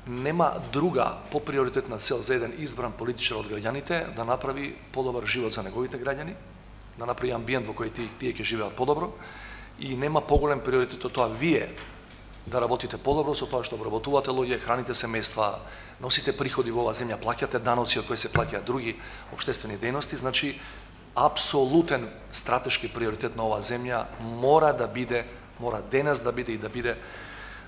нема друга поприоритетна цел за еден избран политичар од граѓаните да направи подобар живот за неговите граѓани, да направи амбиент во кој тие ќе живеат подобро, и нема поголем приоритет од тоа вие да работите подобро со тоа што обработувате луѓе, храните семејства, носите приходи во оваа земја, плаќате даноци од кои се плаќаат други општествени дејности. Значи, апсолутен стратешки приоритет на оваа земја мора денес да биде и да биде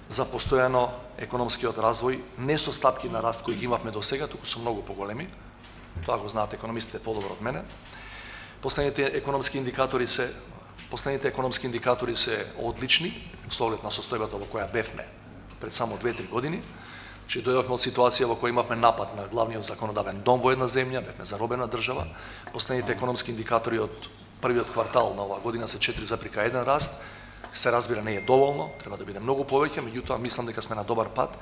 за постојано економскиот развој, не со стапки на раст кои ги имавме до сега, туку со многу поголеми. Тоа го знаат економистите подобро од мене. Последните економски индикатори се одлични, со оглед на состојбата во која бевме пред само 2-3 години. Че дојдовме од ситуација во која имавме напад на главниот законодавен дом во една земја, бевме заробена држава. Последните економски индикатори од првиот квартал на оваа година се 4,1 раст. Се разбира, не е доволно, треба да биде многу повеќе, меѓутоа мислам дека сме на добар пат.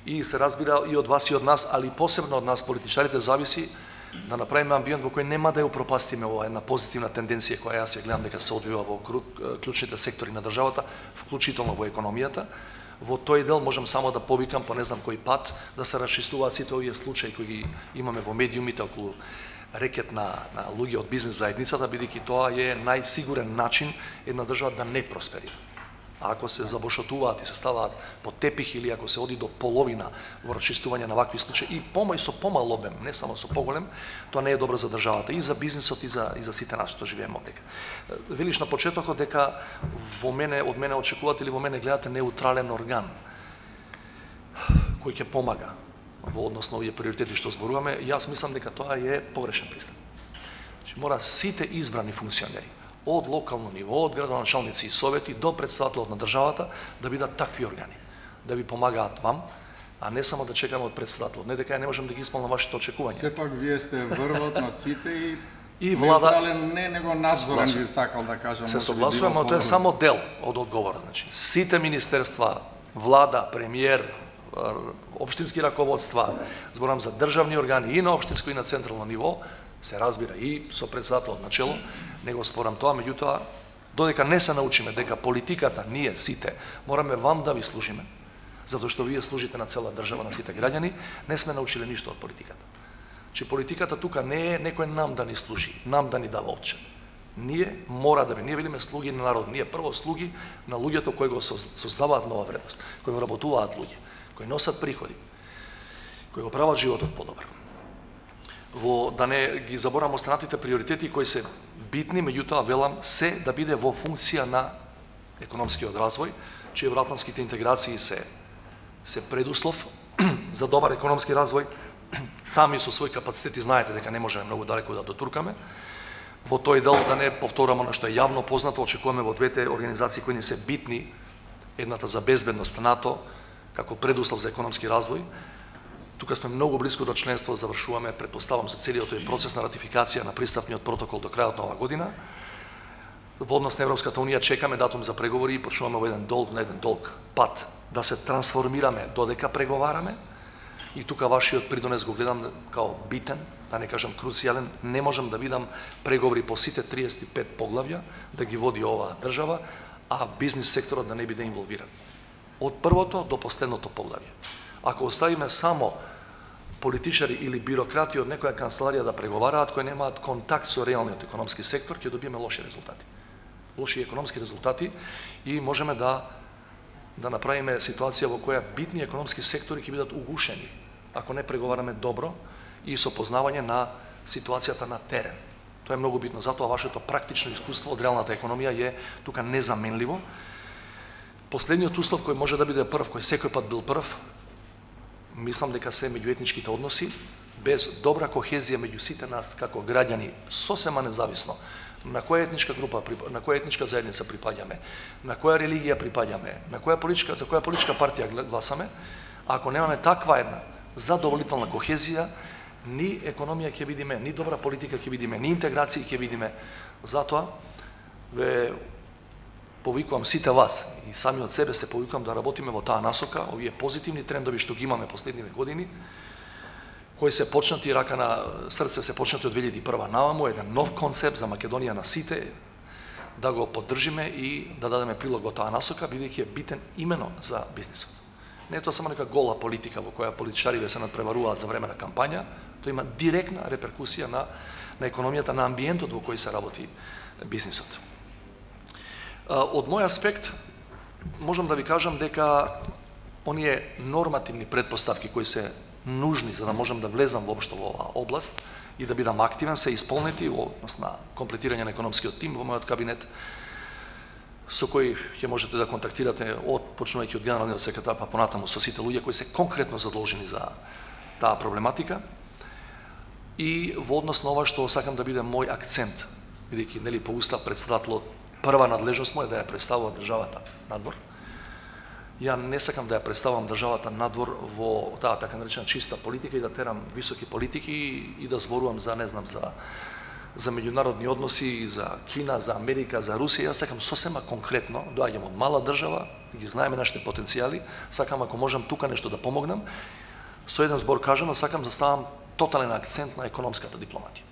И се разбира и од вас и од нас, али посебно од нас политичарите, зависи да направиме амбиент во кој нема да ја упропастиме оваа една позитивна тенденција која јас ја гледам дека се одвива во клучните сектори на државата, вклучително во економијата. Во тој дел можам само да повикам по не знам кој пат да се расчистуваат сите овие случаи кои ги имаме во медиумите околу рекет на луѓе од бизнес заедницата, бидејќи тоа е најсигурен начин една држава да не просперира. А ако се забошотуваат и се ставаат под тепих или ако се оди до половина во расчистување на вакви случаи и со помал обем, не само со поголем, тоа не е добро за државата и за бизнисот и за сите нас што живееме овде. Велиш на почетокот дека од мене очекувате или во мене гледате неутрален орган кој ќе помага во однос на овие приоритети што зборуваме. Јас мислам дека тоа е погрешен пристап. Значи, мора сите избрани функционери од локално ниво, од градоначалници и совети до претставителот на државата да бидат такви органи, да ви помагаат вам, а не само да чекаме од претставителот. Не дека ја не можам да ги исполнам вашите очекувања. Сепак вие сте врвот на сите и влада не него надзорен би сакал да кажам. Се согласувам, но тоа е само дел од одговорот. Значи, сите министерства, влада, премиер, општински раководства, зборам за државни органи и на општинско и на централно ниво, се разбира и со претседателот на чело, не го спорам тоа, меѓутоа, додека не се научиме дека политиката, ние сите, мораме вам да ви служиме, затоа што вие служите на цела држава, на сите граѓани, не сме научиле ништо од политиката. Че политиката тука не е некој нам да ни служи, нам да ни дава отчет. Ние мора да ние бидеме слуги на народ, ние прво слуги на луѓето кои го создаваат нова вредност, кои го работуваат луѓе, кои носат приходи, кои го прават животот подобар. Да не ги заборам останатите приоритети кои се битни, меѓутоа велам се да биде во функција на економскиот развој, че евроатлантските интеграции се предуслов за добар економски развој. Сами со свој капацитети знаете дека не можеме многу далеко да дотуркаме. Во тој дел да не повторам она што е јавно познато, очекуваме во двете организации кои ни се битни, едната за безбедност НАТО како предуслов за економски развој. Тука сме многу близко до членство, завршуваме, претпоставам, со целиот тој процес на ратификација на пристапниот протокол до крајот на оваа година. Во однос на Европската унија чекаме датум за преговори и почнуваме во еден долг пат да се трансформираме додека преговараме. И тука вашиот придонес го гледам као битен, да не кажам круцијален. Не можам да видам преговори по сите 35 поглавја да ги води оваа држава, а бизнис секторот да не биде инволвиран. Од првото до последното поглавје. Ако оставиме само политичари или бирократи од некоја канцеларија да преговараат кои немаат контакт со реалниот економски сектор, ќе добиеме лоши резултати. Лоши економски резултати и можеме да направиме ситуација во која битни економски сектори ќе бидат угушени ако не преговараме добро и со познавање на ситуацијата на терен. Тоа е многу битно, затоа вашето практично искуство од реалната економија е тука незаменливо. Последниот услов кој може да биде прв, кој секој пат бил прв, мислам дека се меѓуетничките односи, без добра кохезија меѓу сите нас како граѓани, сосема независно на која етничка група, на која етничка заедница припаѓаме, на која религија припаѓаме, за која политичка партија гласаме, ако немаме таква една задоволителна кохезија, ни економија ќе видиме, ни добра политика ќе видиме, ни интеграција ќе видиме. Затоа ве повикувам сите вас и сами од себе се повикувам да работиме во таа насока, овие позитивни трендови што ги имаме последниве години, кои се почнати рака на срце, се почнати од 2001 наваму, еден нов концепт за Македонија на сите, да го поддржиме и да дадеме прилог во таа насока, бидејќи е битен имено за бизнисот. Не е тоа само нека гола политика во која политичариве се надпреваруваат за време на кампања, тоа има директна реперкусија на економијата, на амбиентот во кој се работи бизнисот. Од мој аспект, можам да ви кажам дека оние нормативни претпоставки кои се нужни за да можам да влезам воопшто во оваа област и да бидам активен се исполнети во однос на комплетирање на економскиот тим во мојот кабинет, со кој ќе можете да контактирате почнувајќи од генералниот секретар па понатаму со сите луѓе кои се конкретно задолжени за таа проблематика. И во однос на ова што сакам да биде мој акцент, бидејќи нели по устав председателот прва надлежност му е да ја представува државата надвор. Ја не сакам да ја представам државата надвор во таа така наречена чиста политика и да терам високи политики и да зборувам за не знам за меѓународни односи, за Кина, за Америка, за Русија. Јас сакам сосема конкретно, доаѓам од мала држава, ги знаеме нашите потенцијали, сакам ако можам тука нешто да помогнам. Со еден збор кажано, сакам да ставам тотален акцент на економската дипломатија.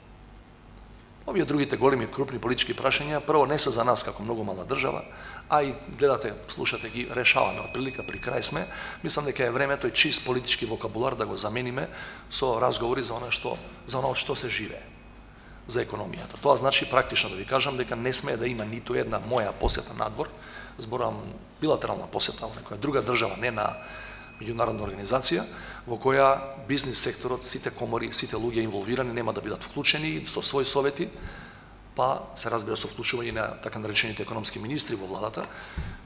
Овие другите големи крупни политички прашања прво не се за нас како многу мала држава, а и гледате, слушате ги, решаваме од прилика при крај сме. Мислам дека е време тој чист политички вокабулар да го замениме со разговори за она што се живее за економијата. Тоа значи практично да ви кажам дека не смее да има ниту една моја посета надвор, зборувам билатерална посета во некоја друга држава, не на меѓународна организација, во која бизнис секторот, сите комори, сите луѓе инволвирани нема да бидат вклучени со своји совети, па се разбира со вклучување на така наречените економски министри во владата,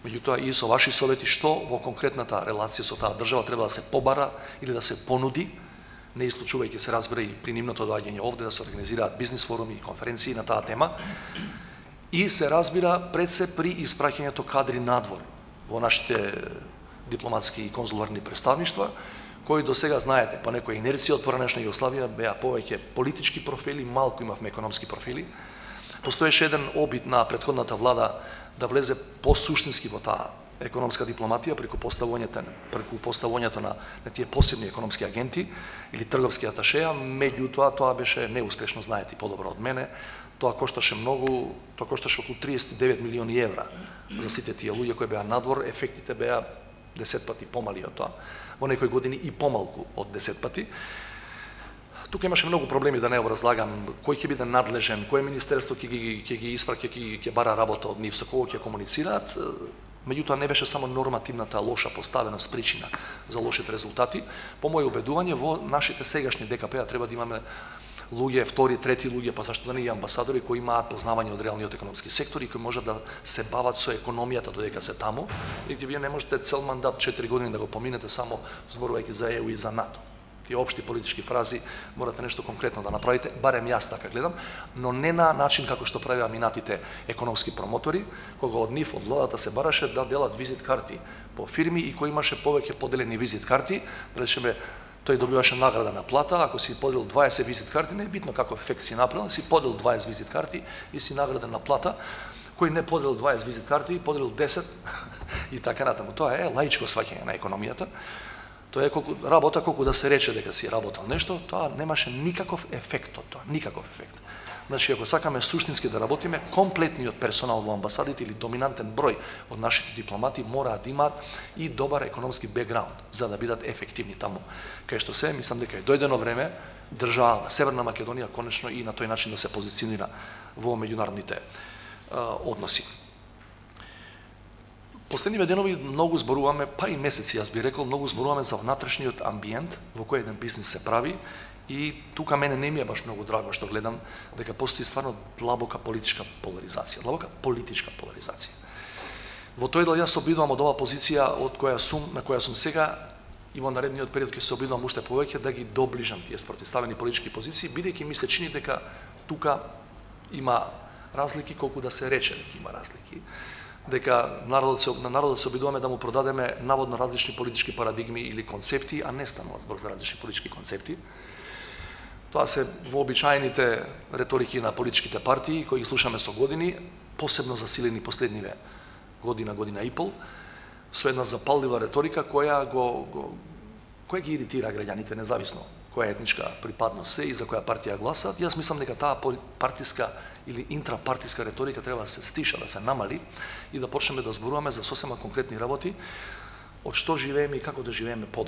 меѓутоа и со ваши совети што во конкретната релација со таа држава треба да се побара или да се понуди, не исклучувајќи се разбира и при нивното доаѓање овде да се организираат бизнис форуми и конференции на таа тема, и се разбира пред се при испраќањето кадри надвор во нашите дипломатски и конзуларни представништва, кои до сега знаете, по некоја инерција од поранешна Југославија беа повеќе политички профили, малку имавме економски профили. Постоеше еден обид на претходната влада да влезе посуштински во таа економска дипломатија преку поставувањето на тие посебни економски агенти или трговски аташеа, меѓутоа тоа беше неуспешно, знаете подобро од мене. Тоа кошташе многу, тоа кошташе околу 39 милиони евра за сите тие луѓе кои беа надвор, ефектите беа 10 пати помали од тоа, во некои години и помалку од 10 пати. Тука имаше многу проблеми, да не образлагам кој ќе биде надлежен, кое министерство ќе ги испраќа, ќе бара работа од нив, со кого ќе комуницираат. Меѓутоа не беше само нормативната лоша поставеност причина за лошите резултати. По моје убедување во нашите сегашни ДКП треба да имаме луѓе, втори, трети луѓе, па зашто да не и амбасадори кои имаат познавање од реалниот економски сектор и кои можат да се бават со економијата додека се таму. И вие не можете цел мандат 4 години да го поминете само зборувајќи за ЕУ и за НАТО. Тие општи политички фрази, морате нешто конкретно да направите, барем јас така гледам, но не на начин како што правеа минатите економски промотори, кога од нив, од владата се бараше да делат визит карти по фирми и кој имаше повеќе поделени визит карти, речеме, тој добиваше награда на плата, ако си поделил 20 визит карти, не е битно каков ефект си направил, си поделил 20 визит карти и си награден на плата, кој не поделил 20 визит карти, поделил 10 и така натаму. Тоа е лаичко сваќање на економијата. Тоа е работа колку да се рече дека си работел нешто, тоа немаше никаков ефект од тоа, никаков ефект. Значи, ако сакаме суштински да работиме, комплетниот персонал во амбасадите или доминантен број од нашите дипломати мораат да имаат и добар економски бекграунд за да бидат ефективни таму. Кај што се, мислам дека е дојдено време држава Северна Македонија конечно и на тој начин да се позиционира во меѓународните односи. Последниве денови многу зборуваме, па и месеци, јас би рекол, многу зборуваме за внатрешниот амбиент во кој еден бизнис се прави и тука мене не ми е баш многу драго што гледам дека постои стварно длабока политичка поларизација. Во тој дел јас се обидувам од оваа позиција на која сум сега и во наредниот период ќе се обидувам уште повеќе да ги доближам тие спротивставени политички позиции, бидејќи ми се чини дека тука има разлики колку да се рече дека има разлики. Дека на народот се обидуваме да му продадеме наводно различни политички парадигми или концепти, а не станува збор за различни политички концепти. Тоа се вообичаените реторики на политичките партии кои ги слушаме со години, посебно засилени последниве година и пол, со една запаллива реторика која ги иритира граѓаните независно која етничка припадност се и за која партија гласат. Јас мислам дека таа партиска или интрапартиска реторика треба да се стиша, да се намали и да почнеме да зборуваме за сосема конкретни работи, од што живееме и како да живееме подобро.